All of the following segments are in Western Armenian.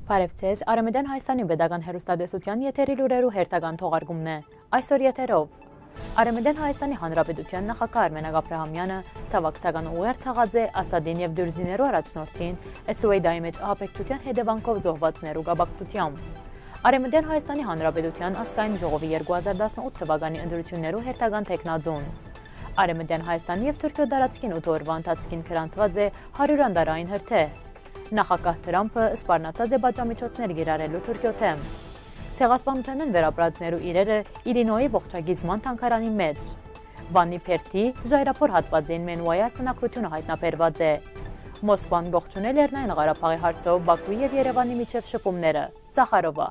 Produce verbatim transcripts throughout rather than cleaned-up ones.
Բարեւ ձեզ, Արեմեդեան Հայաստանի պետական հեռուստատեսութեան եթերի լուրերու հերթական թողարկումն է։ Այսօր եթերով։ Արեմեդեան Հայաստանի Հանրապետութեան նախագահ Արմենակ Աբրահամեանը ցաւակցական ուղերձ յղած է Ասադին եւ Դուրզիներու առաջնորդին Սուէյդայի մէջ ահաբեկչութեան հետեւանքով զոհուածներու կապակցությամբ։ Արեմեդեան Հայաստանի Հանրապետութեան ազգային ժողովի երկու հազար տասնութ թվականի ընտրութիւններու հերթական թեկնածուն։ Արեմեդեան Հայաստանի եւ Թուրքիոյ տարածքին ութ օրուայ ընթացքին գրանցուած է հարիւր անտառային հրդեհ։ Նախագահ Թրամփը սպառնացած է պատժամիջոցներ կիրառելու Թուրքիոյ դէմ։ Ցեղասպանութենէն վերապրածներու իրերը Իլինոյի ողջագիզման թանգարանի մէջ։ Վանի Պերթի ժայռափոր հատուածին Մենուայի արձանագրութիւնը յայտնաբերուած է։ Մոսկվան կողջունէ Լեռնային Ղարաբաղի հարցով Բաքուի եւ Երեւանի միջեւ շփումները։ Սախարովա։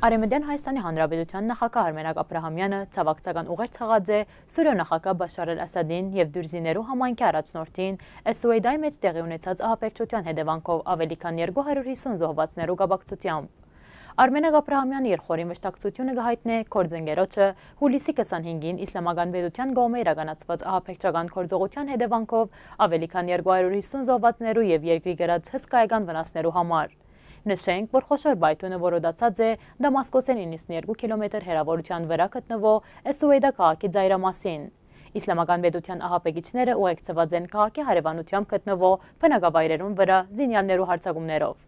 Արեմեդեան Հայաստանի Հանրապետութեան նախագահ Արմենակ Աբրահամեանը ցաւակցական ուղերձ յղած է Սուրիոյ նախագահ Բաշար Ալ Ասադին եւ Դուրզիներու համայնքի առաջնորդին Սուէյդայի մէջ տեղի ունեցած ահաբեկչութեան հետեւանքով աւելի քան երկու հարիւր հիսուն զոհուածներու կապակցությամբ։ Արմենակ Աբրահամեանը իր խորին վշտակցութիւնը կը յայտնէ գործընկերոջը հուլիսի քսանհինգին Իսլամական Պետութեան կողմէ իրականացուած ահաբեկչական գործողութեան հետեւանքով աւելի քան երկու հարիւր հիսուն զոհուածներու եւ երկրի կրած հսկայական վնասներու համար։ Նշենք, որ խոշոր պայթյունը որոտացած է Դամասկոսէն իննսունյոթ կիլոմետր հեռաւորութեան վրայ գտնուող Սուէյդա քաղաքի ծայրամասին։ Իսլամական Պետութեան ահաբեկիչները ուղեկցուած են քաղաքի հարեւանութեամբ գտնուող բնակավայրերուն վրայ զինեալներու յարձակումներով։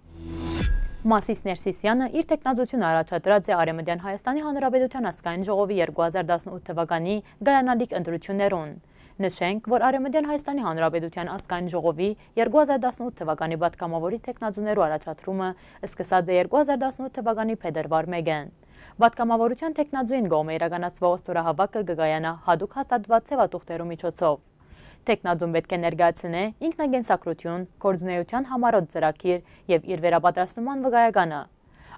Մասիս Ներսիսեանը իր թեկնածութիւնը առաջադրած է Արեմեդեան Հայաստանի Հանրապետութեան ազգային ժողովի երկու հազար տասնութ թվականի կայանալիք ընտրութիւններուն։ Նշենք, որ Արեմեդեան Հայաստանի Հանրապետութեան ազգային ժողովի երկու հազար տասնութ թվականի պատգամաւորի թեկնածուներու առաջադրումը սկսած է երկու հազար տասնութ թվականի փետրուար մէկէն։ Պատգամաւորութեան թեկնածուին կողմէ իրականացուող ստորահաւաքը կը կայանայ յատուկ հաստատուած ձեւաթուղթերու միջոցով։ Թեկնածուն պէտք է ներկայացնէ ինքնակենսագրութիւն, գործունեութեան համառոտ ծրագիր եւ իր վերապատրաստման վկայականը։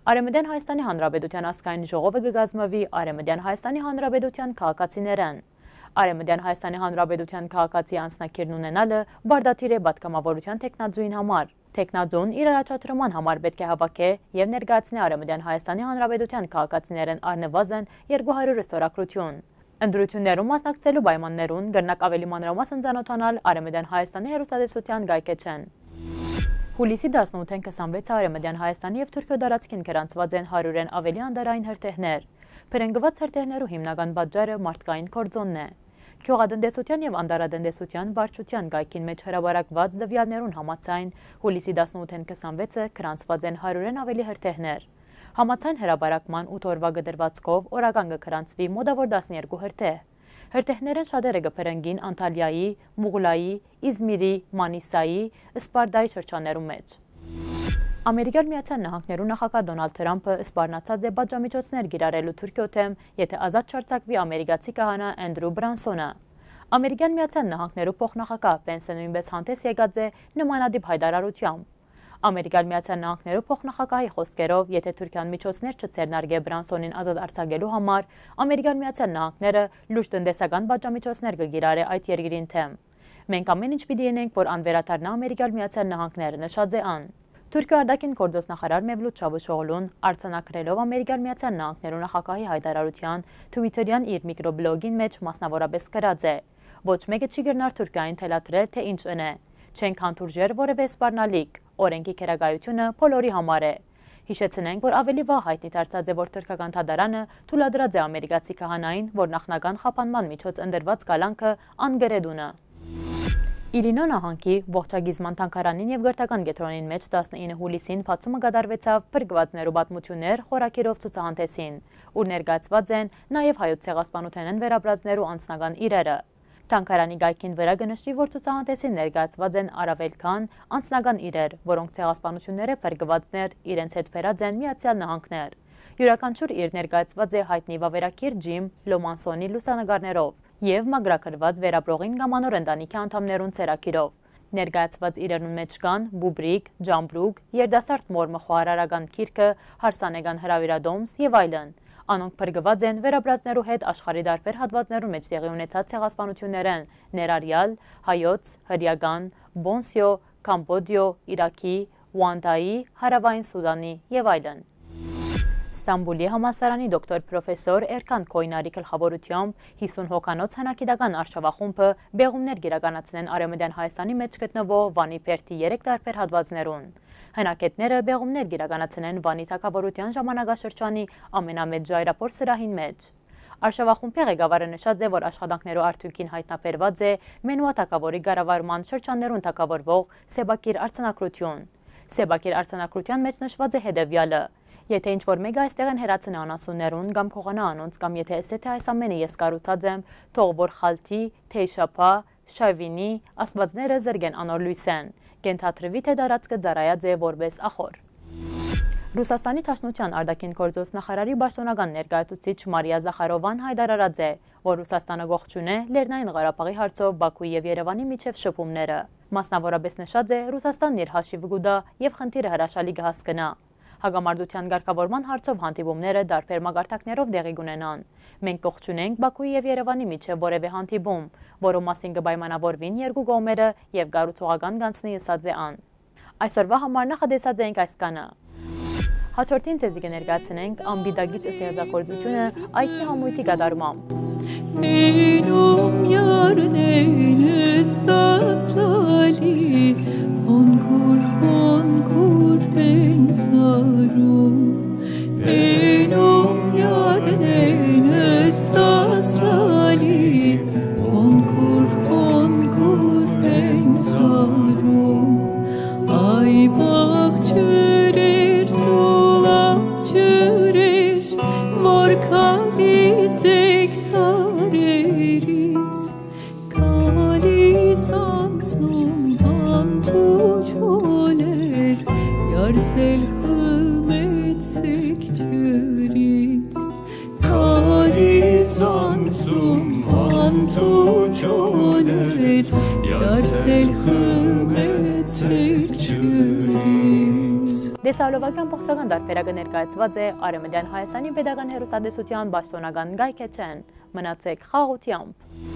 Արեմեդեան Հայաստանի Հանրապետութեան ազգային ժողովը կը կազմուի Արեմեդեան Հայաստանի Հանրապետութեան քաղաքացիներէն։ Արեմեդեան Հայաստանի Հանրապետութեան քաղաքացի անձնագիրն ունենալը պարտադիր է պատգամաւորութեան թեկնածուին համար։ Թեկնածուն իր առաջադրման համար պէտք է հաւաքէ եւ ներկայացնէ Արեմեդեան Հայաստանի Հանրապետութեան քաղաքացիներէն առնուազն երկու հարիւր ստորագրութիւն։ Ընտրութիւններուն մասնակցելու պայմաններուն կրնաք աւելի մանրամասն ծանօթանալ Արեմեդեան Հայաստանի հեռուստատեսութեան կայքէջէն։ Հուլիսի տասնութին քսանվեցը Արեմեդեան Հայաստանի եւ Թուրքիոյ տարածքին գրանցուած են հարիւրէն աւելի անտառային հրդեհներ։ Բռնկուած հրդեհներու հիմնական պատճառը մարդկային գործոնն է։ Գիւղատնտեսութեան եւ անտառատնտեսութեան վարչութեան կայքին մէջ հրապարակուած տուեալներուն համաձայն, հուլիսի տասնութին քսանվեցը գրանցուած են հարիւրէն աւելի հրդեհներ։ Համաձայն հրապարակման ութ օրուայ կտրուածքով օրական կը գրանցուի մօտաւոր տասներկու հրդեհ։ Հրդեհներէն շատերը կը բռնկին Անտալիայի, Մուղլայի, Իզմիրի, Մանիսայի, Սպարտայի շրջաններու մէջ։ Ամերիկյան Միացյալ Նահանգներու նախագահ Դոնալդ Թրամփը սպառնացած է պատժամիջոցներ կիրառելու Թուրքիոյ դէմ, եթէ ազատ չարձակուի ամերիկացի քահանայ Էնդրու Բրանսոնը։ Ամերիկյան Միացյալ Նահանգներու փոխնախագահ Պենսը նոյնպէս հանդէս եկած է նմանատիպ յայտարարութեամբ։ Ամերիկյան Միացյալ Նահանգներու փոխնախագահի խօսքերով, եթէ Թուրքիան միջոցներ չձեռնարկէ Բրանսոնին ազատ արձակելու համար, Ամերիկյան Միացյալ Նահանգները լուրջ տնտեսական պատժամիջոցներ կը կիրառէ այդ երկրին դէմ։ «Մենք ամէն ինչ պիտի ընենք, որ ան վերադառնայ Ամերիկյան Միացյալ Նահանգներ», նշած է ան։ Թուրքիոյ արտաքին գործոց նախարար Մևլութ Չավուշօղլուն արձանագրելով Ամերիկյան Միացյալ Նահանգներու նախագահի յայտարարութեան, Twitter-յան իր միկրոբլոգին մէջ մասնաւորապէս գրած է. «Ոչ մէկը չի կրնար Թուրքիային թելադրել, թէ ինչ ընէ։ Չենք հանդուրժեր որեւէ սպառնալիք։ Օրէնքի գերակայութիւնը բոլորի համար է»։ Յիշեցնենք, որ աւելի վաղ յայտնի դարձած է, որ թրքական դատարանը թույլատրած է ամերիկացի քահանային, որ նախնական խափանման միջոց ընտրուած կալանքը անկրետ ունը։ Իլինոյ նահանգի ողջագիզման թանգարանին եւ կրթական կեդրոնին մէջ տասնինը հուլիսին բացումը կատարուեցաւ «Փրկուածներու պատմութիւններ» խորագիրով ցուցահանդէսին, ուր ներկայացուած են նաեւ հայոց ցեղասպանութենէն վերապրածներու անձնական իրերը։ Թանգարանի կայքին վրայ կը նշուի, որ ցուցահանդէսին ներկայացուած են առավել քան անձնական իրեր, որոնք ցեղասպանութիւններէ փրկուածներ իրենց հետ բերած են Միացեալ Նահանգներ։ Իւրաքանչիւր իր ներկայացուած է յայտնի վավերագիր Ջիմ Լոմանսոնի լուսանկարներով եւ մաքրագրուած վերապրողին կամ անոր ընտանիքի անդամներուն ձեռագիրով։ Ներկայացուած իրերուն մէջ կան Բուբրիկ, Ջամբրուկ, երիտասարդ մոր մը խոհարարական գիրքը, հարսանեկան հրաւիրատոմս եւ այլն։ Անոնք փրկուած են վերապրածներու հետ աշխարհի տարբեր հատուածներուն մէջ տեղի ունեցած ցեղասպանութիւններէն, ներառեալ հայոց, հրեական, Պոնսիո, Կամբոդիո, Իրաքի, Ուանտայի, Հարաւային Սուդանի եւ այլն։ Ստամբուլի համալսարանի դոկտոր պրոֆեսոր Էրքան Քոյնարի գլխաւորութեամբ հիսուն հոգանոց հնագիտական արշաւախումբը պեղումներ կ'իրականացնեն Արեւմտեան Հայաստանի մէջ գտնուող Վանի բերդի երեք տարբեր հատուածներուն։ Հնագետները պեղումներ կ'իրականացնեն Վանի թագաւորութեան ժամանակաշրջանի ամենամեծ ժայռափոր սրահին մէջ։ Արշաւախումբի ղեկավարը նշած է, որ աշխատանքներու արդիւնքին յայտնաբերուած է Մենուա թագաւորի կառավարման շրջաններուն թագաւորուող սեպագիր արձանագրութիւն։ Սեպագիր արձանագրութեան մէջ նշուած է հետեւեալը. «Եթէ ինչ որ մէկը այստեղէն հեռացնէ անասուններուն կամ գողանայ անոնց, կամ եթէ ըսէ, թէ այս ամէնը ես կառուցած եմ, թող որ Խալթի, Թեյշապա, Շավինի աստուածները զրկեն անոր լոյսէն, կ'ենթադրուի, թէ տարածքը ծառայած է որպէս ախոր»։ Ռուսաստանի Դաշնութեան արտաքին գործոց նախարարի պաշտօնական ներկայացուցիչ Մարիա Զախարովան յայտարարած է, որ Ռուսաստանը կողջունէ Լեռնային Ղարաբաղի հարցով Բաքուի եւ Երեւանի միջեւ շփումները։ Մասնաւորապէս նշած է, Ռուսաստանն իր հաշիվը կու տայ եւ խնդիրը հրաշալի կը հասկնայ։ Հակամարտութեան կարգաւորման հարցով հանդիպումները տարբեր մակարդակներով տեղի կ'ունենան։ «Մենք կողջունենք Բաքուի եւ Երեւանի միջեւ որեւէ հանդիպում, որու մասին կը պայմանաւորուին երկու կողմերը եւ կառուցողական կ'անցնի», ըսած է ան։ Այսօրուայ համար նախատեսած էինք այսքանը։ Հաջորդին ձեզի կը ներկայացնենք անպիտակից ստեղծագործութիւնը այգի համոյթի կատարմամբ։ Մենոմ յարդեն ստացլալի, հոնքուր, հոնքուր են սարում։ Մենոմ յարդեն ստացլալի, հոնքուր, հոնքուր են սարում։ Այ պաղ ջուրեր, սուլապ ջուրեր, որ գալիս էք սարերից, գալիս անցնում անթու ջուրեր, երսել խմեցեք ջուրից։ Գալիս անցում անթու ջուրեր, երսել խմեցեք ջուրից։ Դեսալովակի ամբողջական տարբերակը ներկայացուած է Արեւմտյան Հայաստանի Պետական Հեռուստատեսութեան պաշտօնական կայքէջէն։ Մնացեք խաղաղութեամբ։